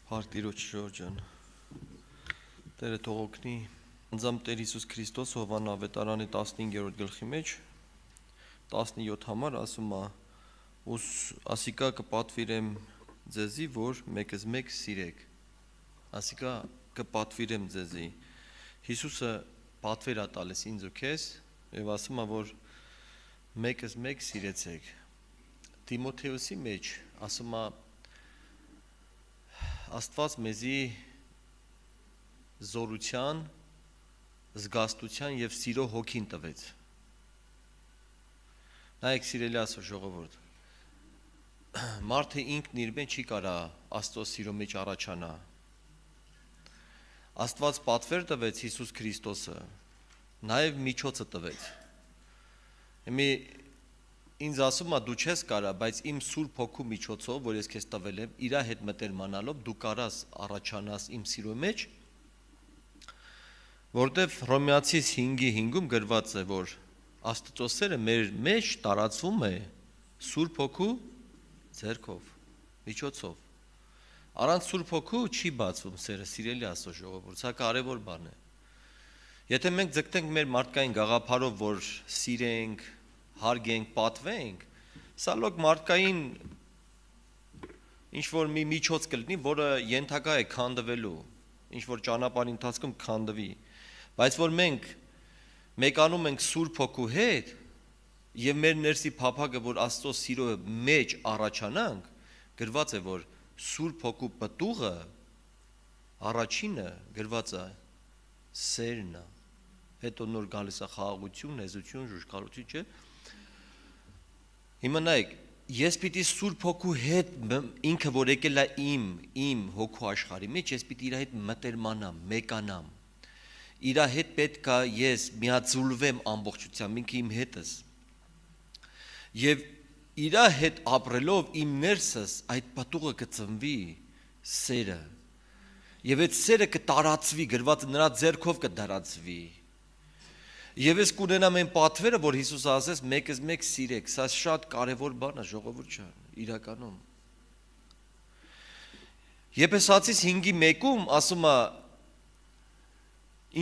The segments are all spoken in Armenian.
Հարտիրոջ Ժորջան Տերը թող օգնի անձամբ Տեր Հիսուս Քրիստոս Հովհաննես ավետարանի 15-րդ գլխի մեջ 17 համար ասում է ասիկա կպատվիրեմ ձեզի, որ մեկս մեկ սիրեք ասիկա կպատվիրեմ ձեզի Հիսուսը պատվեր է տալիս ինձ ու քեզ եւ ասում է, որ մեկս մեկ սիրեցեք Տիմոթեոսի մեջ ասում է Աստված մեզի զորության, զգաստության եւ սիրո հոգին տվեց։ Նայեք սիրելի Աստծո ժողովուրդ։ Մարդը ինքն իր մեջ չի կարա Աստծո սիրո մեջ առաջանա։ Աստված պատվեր տվեց Հիսուս Քրիստոսը, նաեւ միջոցը տվեց։ Հիմա ինձ ասում է դու չես կարա, բայց իմ Սուրբ Հոգու միջոցով, որ ես քեզ տվել եմ, իր հետ մտերմանալով դու կարաս առաջանաս իմ սիրո մեջ, որտեվ Հռոմեացիս 5:5-ում գրված է, որ Աստծո սերը մեր մեջ տարածվում է Սուրբ Հոգու ձեռքով, միջոցով։ Առանց Սուրբ Հոգու չի բացվում սերը, սիրելի Աստծո ժողովուրդ, սա կարևոր բան է։ Եթե մենք ձգտենք մեր մարդկային գաղափարով, որ սիրենք, հարգենք, պատվենք, սա լոկ մարդկային ինչ-որ մի միջոց կլինի, որը ենթակա է քանդվելու, ինչ-որ ճանապարհի ընթացքում քանդվի, բայց որ մենք մեկանում ենք Սուրբ Հոգու հետ եւ մեր ներսի փափագը, որ Աստծո սիրո մեջ առաջանանք, գրված է, որ Սուրբ Հոգու պտուղը առաջինը գրված է սերն է, հետո նոր գալիս է խաղաղություն, հեզություն, ժուժկալություն, չէ՞։ Հիմա նայեք, ես պիտի Սուրբ Հոգու հետ ինքը որ եկել է իմ հոգու աշխարհի մեջ, ես պիտի իր հետ մտերմանամ, մեկանամ։ Իր հետ պետք է ես միաձուլվեմ ամբողջությամբ, ինքը իմ հետս։ Եվ իր հետ ապրելով իմ ներսս այդ պատուղը կծնվի սերը։ Եվ այդ սերը կտարածվի, գրված նրա ձեռքով կտարածվի։ Եվ ես կունենամ այն պատվերը, որ Հիսուսը ասեց, մեկս մեկ սիրեք, սա շատ կարևոր բան է, ժողովուրդ ջան, իրականում։ Եփեսացիս 5:1-ում ասում է,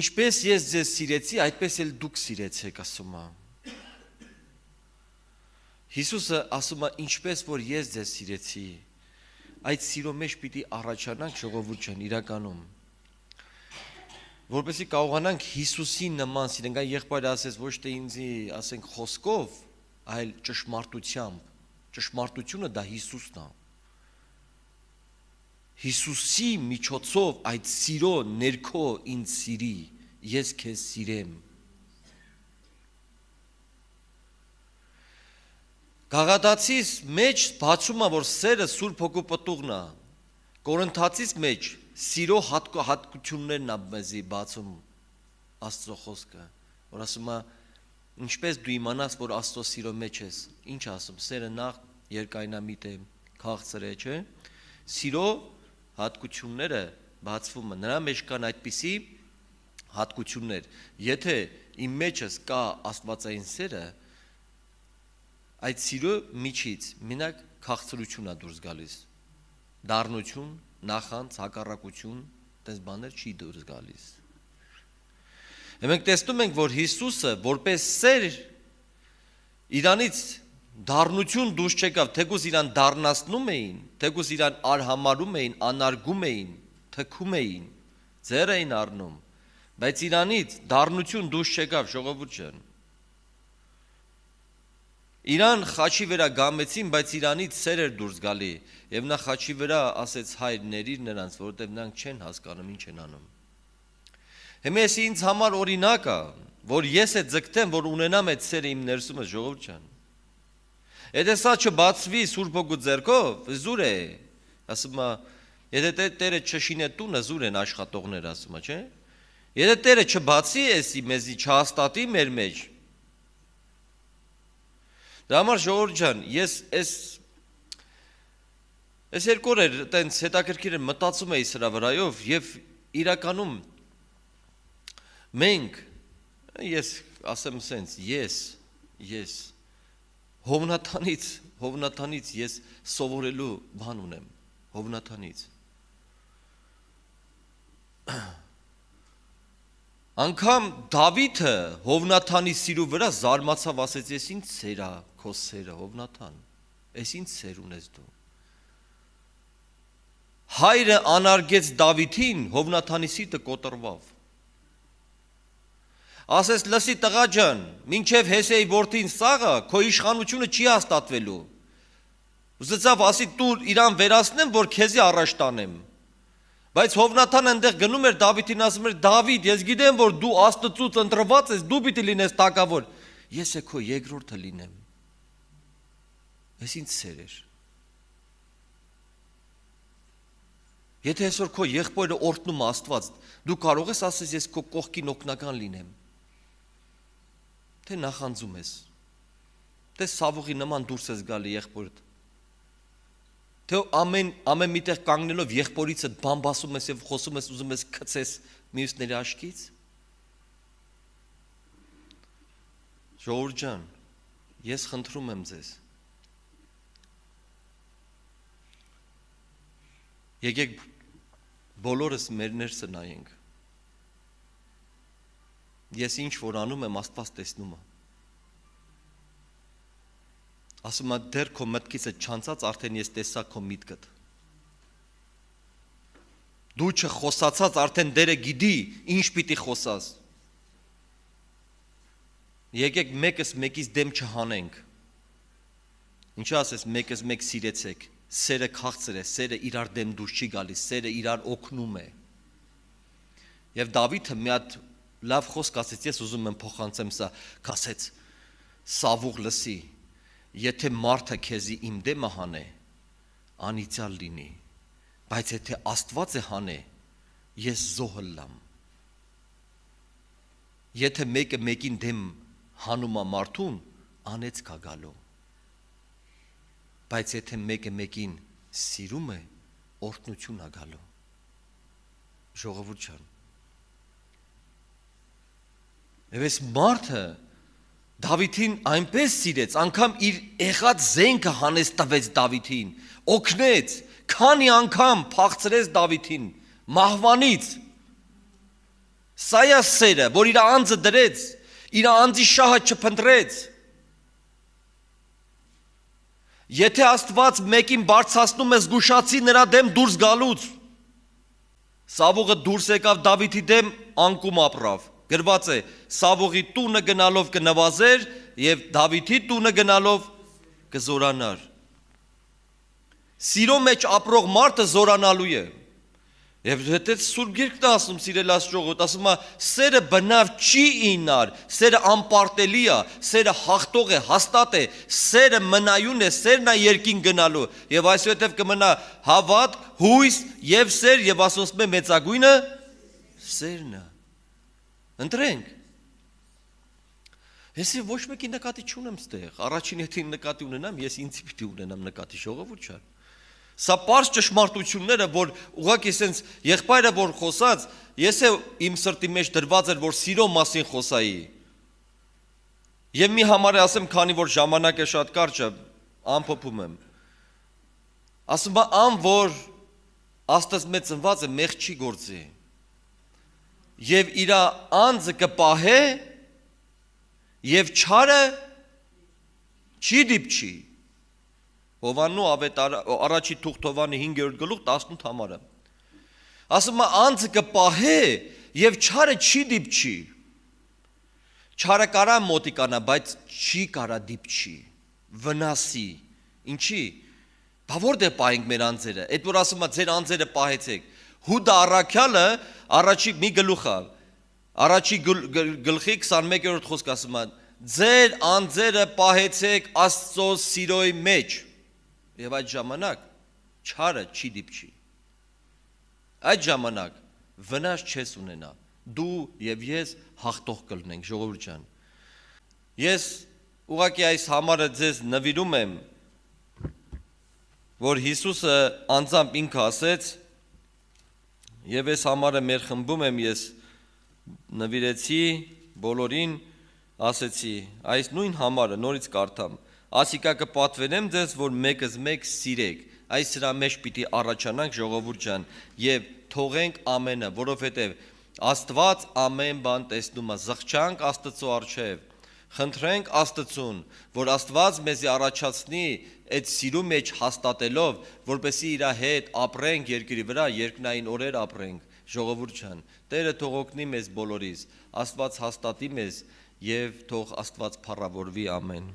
ինչպես ես ձեզ սիրեցի, այդպես էլ դուք սիրեցեք, ասում է։ Հիսուսը ասում է, ինչպես որ ես ձեզ սիրեցի, այդ սիրո մեջ պիտի առաջանանք, ժողովուրդ ջան, իրականում։ Որպեսզի կարողանանք Հիսուսի նման սիրենք, այն եղբայրը ասեց ոչ թե ինձի, ասենք, խոսքով, այլ ճշմարտությամբ։ Ճշմարտությունը դա Հիսուսն է։ Հիսուսի միջոցով այդ սիրո ներքո ինձ սիրի, ես քեզ սիրեմ։ Գաղատացիս մեջ բացում է, որ սերը Սուրբ Հոգու պտուղն է։ Կորինթացիս մեջ սիրո հատկություններն է մեզի բացում Աստծո խոսքը, որ ասում է, ինչպես դու իմանաս, որ Աստծո սիրո մեջ ես, ինչ ասում, սերը նախ երկայնամիտ է, քաղցր է, չէ՞։ Սիրո հատկությունները բացվում են, նրա մեջ կան այդպիսի հատկություններ։ Եթե իմ մեջս կա աստվածային սերը, այդ սիրո միջից մենակ քաղցրություն է դուրս գալիս, դառնություն, նախանց, հակառակություն, այդպես բաներ չի դուրս գալիս։ Մենք տեսնում ենք, որ Հիսուսը որպես սեր իրանից դառնություն դուրս չեկավ, թեկուզ իրան դառնացնում էին, թեկուզ իրան արհամարում էին, անարգում էին, թքում էին, ձեռ էին առնում, բայց իրանից դառնություն դուրս չեկավ, ժողովուրդ ջան։ Իրան խաչի վրա գամեցին, բայց իրանից սեր էր դուրս գալի, եւ նա խաչի վրա ասեց հայր ների նրանց, որովհետեւ նրանք չեն հասկանում ինչ են անում։ Հիմա ես ինձ համար օրինակ է, որ ես է ձգտեմ, որ ունենամ այդ սերը իմ ներսումս, ժողովուրդ ջան։ Եթե սա չբացվի Սուրբ Հոգու ձեռքով, զուր է, ասում է, եթե Տերը չշինե տունը, զուր են աշխատողներ, ասում է, չէ՞։ Եթե Տերը չբացի էսի մեզի չհաստատի մեր մեջ, դա համար ժողովուրդ ջան, ես երկու օր այտենց հետաքրքիր մտածում էի սրա վրայով եւ իրականում մենք ես ասեմ սենց ես Հովնաթանից ես սովորելու բան ունեմ Հովնաթանից Անգամ Դավիթը Հովնաթանի սիրու վրա զարմացավ, ասեց, ես ինչ սեր է քո սերը, Հովնաթան, ես ինչ սեր ունես դու։ Հայրը անարգեց Դավիթին, Հովնաթանի սիրտը կոտրվավ։ Ասես, լսի տղա ջան, մինչև Հեսեի որդին Սաղը, քո իշխանությունը չի հաստատվելու։ Ուզեցավ ասի դու իրան վերացնեմ, որ քեզի առաջ տանեմ։ Բայց Հովնաթանը այնտեղ գնում էր Դավիթին, ասում էր, Դավիթ, ես գիտեմ, որ դու Աստծուց ընտրված ես, դու պիտի լինես թագավոր։ Ես է քո երկրորդը լինեմ։ Ես ինչ սեր էր։ Եթե այսօր քո եղբայրը օրհնում է Աստված, դու կարող ես ասես, ես քո կողքին օգնական լինեմ։ Թե նախանձում ես։ Թե Սավուղի նման դուրս ես գալի եղբորդ։ Թե ամեն միտեղ կանգնելով եղբորիցդ բամբասում ես եւ խոսում ես, ուզում ես գցես մյուսների աչքից։ Ժողովուրդ ջան, ես խնդրում եմ ձեզ։ Եկեք բոլորս մեր ներսը նայենք։ Ես ինչ որ անում եմ, Աստված տեսնում է։ Ասում եմ, դեռ քո մտքից է չանցած, արդեն ես տեսա քո միտքդ։ Դու չխոսացած, արդեն դերը գիտի, ինչ պիտի խոսաս։ Եկեք մեկս մեկից դեմ չհանենք։ Ինչու ասես, մեկս մեկ սիրեցեք, սերը քաղցր է, սերը իրար դեմ դուրս չի գալիս, սերը իրար օգնում է։ Եվ Դավիթը մի հատ լավ խոսք ասեց, ես ուզում եմ փոխանցեմ սա, ասեց, Սավուղ լսի, եթե մարդը քեզի իմ դեմը հանե, անիծյալ լինի, բայց եթե Աստված է հանե, ես զոհը լամ։ Եթե մեկը մեկին դեմ հանում է մարդուն, անեց կա գալու։ Բայց եթե մեկը մեկին սիրում է, օրհնություն է գալու։ Ժողովուրդ ջան։ Եվ այս մարդը Դավիթին այնպես սիրեց, անգամ իր եղած զենքը հանեց տվեց Դավիթին, օգնեց, քանի անգամ փախցրեց Դավիթին, մահվանից։ Սա է սերը, որ իր անձը դրեց, իր անձի շահը չփնտրեց։ Եթե Աստված մեկին բարձրացնում է, զգուշացի նրա դեմ դուրս գալուց։ Սավուղը դուրս եկավ Դավիթի դեմ, անկում ապրավ։ Գրված է, Սավուղի տունը գնալով կնվազեր և Դավիթի տունը գնալով կզորանար։ Սիրո մեջ ապրող մարդը զորանալու է։ Եվ հետո Սուրբ Գիրքն է ասում, սիրելաս ժողովուրդ, ասում է, սերը բնավ չի ինար, սերը անպարտելի է, սերը հաղթող է, հաստատ է, սերը մնայուն է, սերն է երկին գնալու։ Եվ այսուհետև կմնա հավատք, հույս և սեր, և ասում է մեծագույնը սերն է։ Ընտրենք։ Ես ոչ մեկի նկատի չունեմ ստեղ, առաջին եթե նկատի ունենամ, ես ինձ պիտի ունենամ նկատի, ժողովուրդ ջան։ Սա պարզ ճշմարտությունները, որ ուղղակի սենց եղբայրը որ խոսած, ես իմ սրտի մեջ դրված էր, որ սիրո մասին խոսայի։ Եվ մի համար ասեմ, քանի որ ժամանակը շատ կարճ է, ամփոփում եմ։ Ասում է, ան որ Աստծո մեջ ծնված է, մեղ չի գործի։ Եվ իր անձը կպահե, եւ չարը չի դիպչի։ Հովաննու առաջի թուղթ Հովանի 5-րդ գլուխ 18 համարը։ Ասում է անձը կպահե եւ չարը չի դիպչի։ Չարը կարա մոտիկանա, բայց չի կարա դիպչի, վնասի։ Ինչի՞։ Բա որտե պահենք մեր անձերը։ Այդ որ ասում է ձեր անձերը պահեցեք։ Հուդա առաքյալը առաջի մի գլուխ է։ Առաջի գլխի 21-րդ խոսք ասում է. ձեր անձերը պահեցեք Աստծո սիրոյի մեջ։ Եվ այդ ժամանակ չարը չի դիպչի։ Այդ ժամանակ վնաս չես ունենա։ Դու եւ ես հաղթող կլինենք, ժողովուրդ ջան։ Ես ուղղակի այս համարը ձեզ նվիրում եմ, որ Հիսուսը անձամբ ինքը ասեց, եւ այս համարը մեր խմբում եմ ես նվիրեցի բոլորին, ասեցի, այս նույն համարը նորից կարդամ, ասիկա կպատվենեմ ձեզ, որ մեկս մեկ սիրեք, այս սրա մեջ պիտի առաջանանք ժողովուրդ ջան եւ թողենք ամենը, որովհետեւ Աստված ամեն բան տեսնում է, զղջանք Աստծո առջև, խնդրենք Աստծուն, որ Աստված մեզի առաջացնի այդ սիրո մեջ հաստատելով, որպեսզի իր հետ ապրենք երկրի վրա, երկնային օրեր ապրենք, ժողովուրդ ջան, Տերը թող օգնի մեզ բոլորիս, Աստված հաստատի մեզ եւ թող Աստված փառավորվի, ամեն։